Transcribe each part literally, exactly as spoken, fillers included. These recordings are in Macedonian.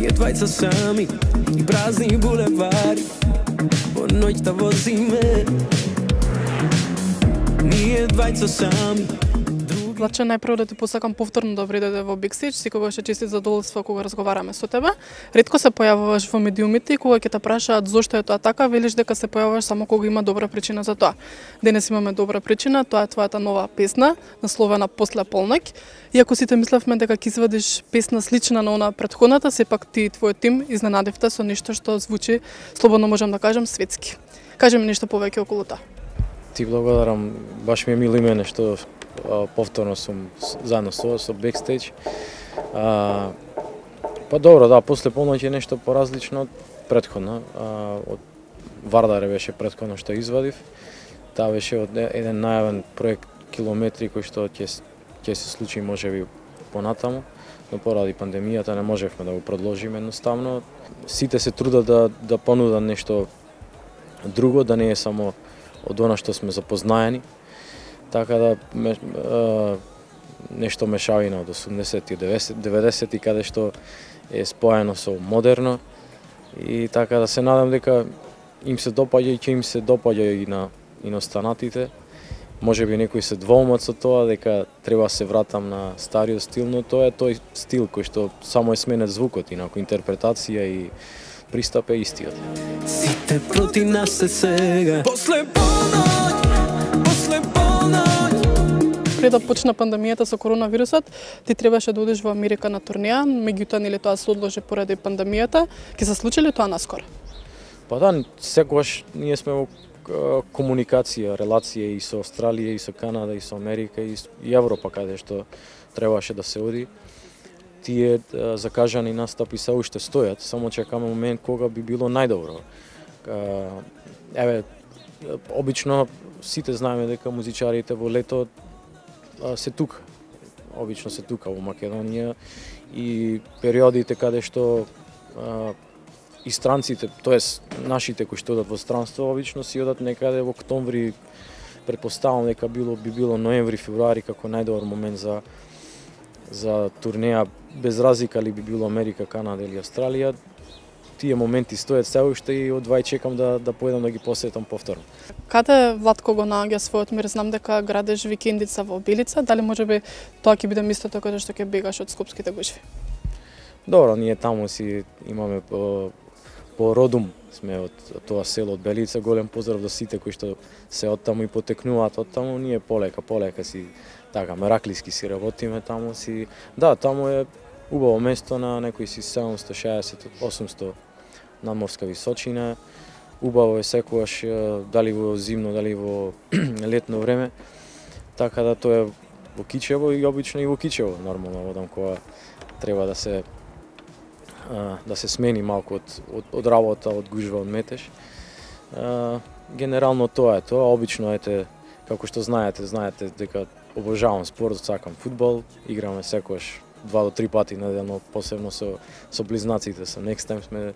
Ние двајца сами и празни булевари, по ноќта возиме. Ние двајца сами. Влаче, најпрво да ти посакам повторно добри дојде во Бекстејдж, секогаш е често задоволство кога разговараме со тебе. Ретко се појавуваш во медиумите и кога ќе те прашаат зошто е тоа така, велиш дека се појавуваш само кога има добра причина за тоа. Денес имаме добра причина, тоа е твојата нова песна, насловена После полноќ. Иако сите мислевме дека ќе извадиш песна слична на она претходната, сепак ти и твојот тим изненадивте со нешто што звучи, слободно можам да кажам, светски. Кажи ми нешто повеќе околу тоа. Ти благодарам, баш ми е мило име што повторно сум заедно со со Бекстејдж. А, па добро, да, После полноќ е нешто поразлично од претходно. А, од Вардаре беше претходно што извадив. Таа беше од еден најавен проект Километри кој што ќе ќе се случи можеби понатаму, но поради пандемијата не можевме да го продолжиме едноставно. Сите се трудат да да понудат нешто друго, да не е само од она што сме запознаени. Така да ме, а, нешто мешавина од осумдесети и деветдесети каде што е споено со модерно и така да се надам дека им се допаѓа и ќе им се допаѓа и на и на останатите. Можеби некои се двоумат со тоа дека треба да се вратам на стариот стил, но тоа е тој стил кој што само е сменет звукот, инаку интерпретација и пристап е истиот. Сите проти нас се сега. После полноќ, после полноќ. Пред да почна пандемијата со коронавирусот, ти требаше да одиш во Америка на турнеја, меѓутоа нели тоа се одложи поради пандемијата. Ќе се случи ли тоа наскоро? Па да, секогаш ние сме во комуникација, релација и со Австралија, и со Канада, и со Америка, и Европа, каде што требаше да се оди. Тие закажани настапи се уште стојат, само чекаме момент кога би било најдобро. Еве, обично сите знаеме дека музичарите во лето се тука. Обично се тука во Македонија и периодите каде што и странците, тоест нашите кои што одат во странство, обично си одат некаде во октомври, претпоставам дека било би било ноември, февруари како најдобар момент за за турнеја, без разлика ли би било Америка, Канада или Австралија. Тие моменти стојат се уште и одвај чекам да да појдам да ги посетам повторно. Каде Владко го наоѓа својот мир? Знам дека градеш викендица во Белица, дали можеби тоа ќе биде местото каде што ќе бегаш од скопските гужви? Добро, ние таму си имаме по, по родум сме од тоа село од Белица, голем поздрав до сите кои што се од таму и потекнуваат од таму, ние полека, полека си така мераклиски си работиме таму си. Да, таму е убаво место на некои си седумсто шеесет до осумсто надморска височина. Убаво е секогаш дали во зимно, дали во летно време. Така да тоа е во Кичево и обично и во Кичево нормално одам кога треба да се да се смени малку од, од, од работа, од гужва, од метеж. Генерално тоа е тоа. Обично ете, како што знаете, знаете дека обожавам спорт, сакам фудбал, играме секогаш два до три пати неделно, посебно со со близнаците, со Next Time сме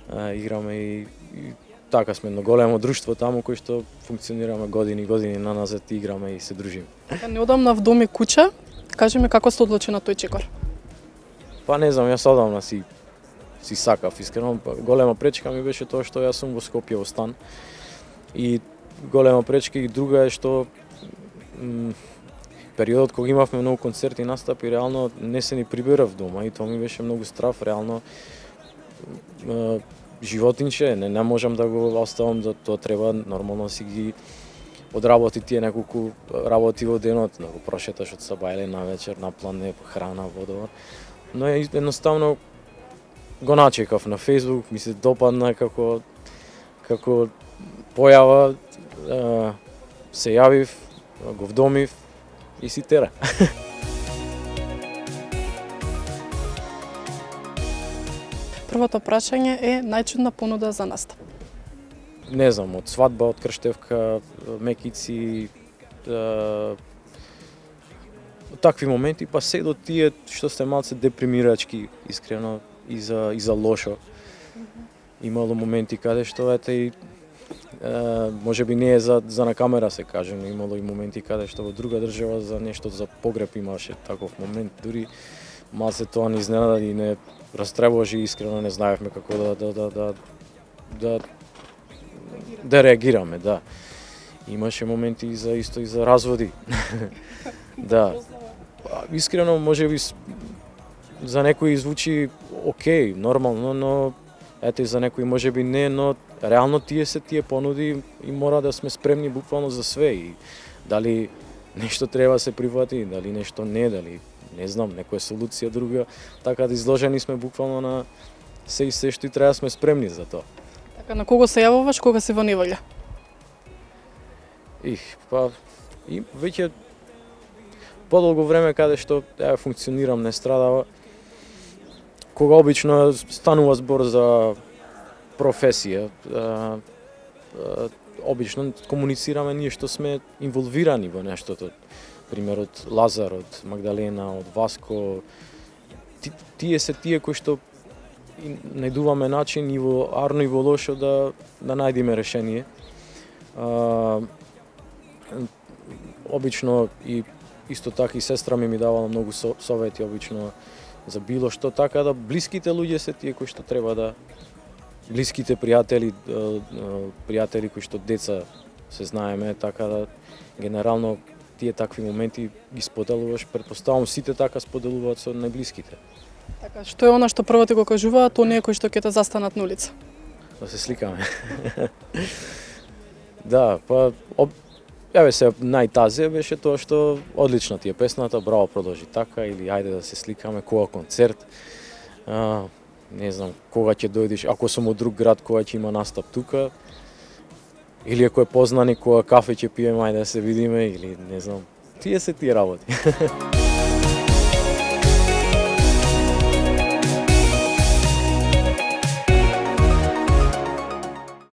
а, играме и, и така сме едно големо друштво таму кој што функционираме години и години наназад, играме и се дружиме. Неодамна в дом и куќа, кажи ми како се одлучи на тој чекор? Па не знам, јас одамна си си сакав, искрено. Голема пречка ми беше тоа што јас сум во Скопје во стан. И голема пречка и друга е што периодот кога имавме многу концерти и настапи, реално не се ни приберав дома и тоа ми беше многу страв, реално е, животинче, не, не можам да го оставам, да тоа треба нормално си ги одработи тие неколку работи во денот, да го прошеташ од саба или на вечер, на плане, храна, водовар. Но едноставно го начекав на Facebook, ми се допадна како како појава, е, се јавив, го вдомив и си тера. Првото прашање е најчудна понуда за настап. Не знам, од свадба, од крштевка, мекици, е, такви моменти, па се до тие што се малце депримирачки, искрено, и за, и за лошо. Имало моменти каде што ете и е, може би не е за, за на камера се каже, но имало и моменти каде што во друга држава за нешто за погреб имаше таков момент, дури малце тоа не изненада и не растревожи и искрено не знаевме како да да да да да, да реагираме, да. Имаше моменти и за исто и за разводи. Да. Искрено можеби за некои звучи окей, нормално, но ете за некои можеби не, но реално тие се тие понуди и мора да сме спремни буквално за све и дали нешто треба да се прифати, дали нешто не, дали не знам, некоја солуција друга, така да изложени сме буквално на се и се што и треба да сме спремни за тоа. Така, на кого се јавуваш кога си во неволја? Их, па и веќе подолго време каде што ја функционирам не страдава, кога обично станува збор за професија, а, а, обично комуницираме ние што сме инволвирани во нештото. Пример од Лазар, од Магдалена, од Васко. Ти, тие се тие кои што најдуваме начин и во арно и во лошо да да најдеме решение. А, обично и исто така и сестра ми ми давала многу совети обично за било што, така да блиските луѓе се тие кои што треба да блиските пријатели, пријатели кои што деца се знаеме, така да генерално тие такви моменти ги споделуваш, претпоставам сите така споделуваат со најблиските. Така, што е она што прво ти го кажуваат оние кои што ќе те застанат на улица? Да се сликаме. Да, па об... Јаве се најтазе беше тоа што одлична ти е песната, браво, продолжи така, или ајде да се сликаме, кога концерт. А, не знам, кога ќе дојдеш, ако сум од друг град, кога ќе има настап тука. Или ако е познани, кога кафе ќе пиеме, ајде да се видиме, или не знам. Тие се тие работи.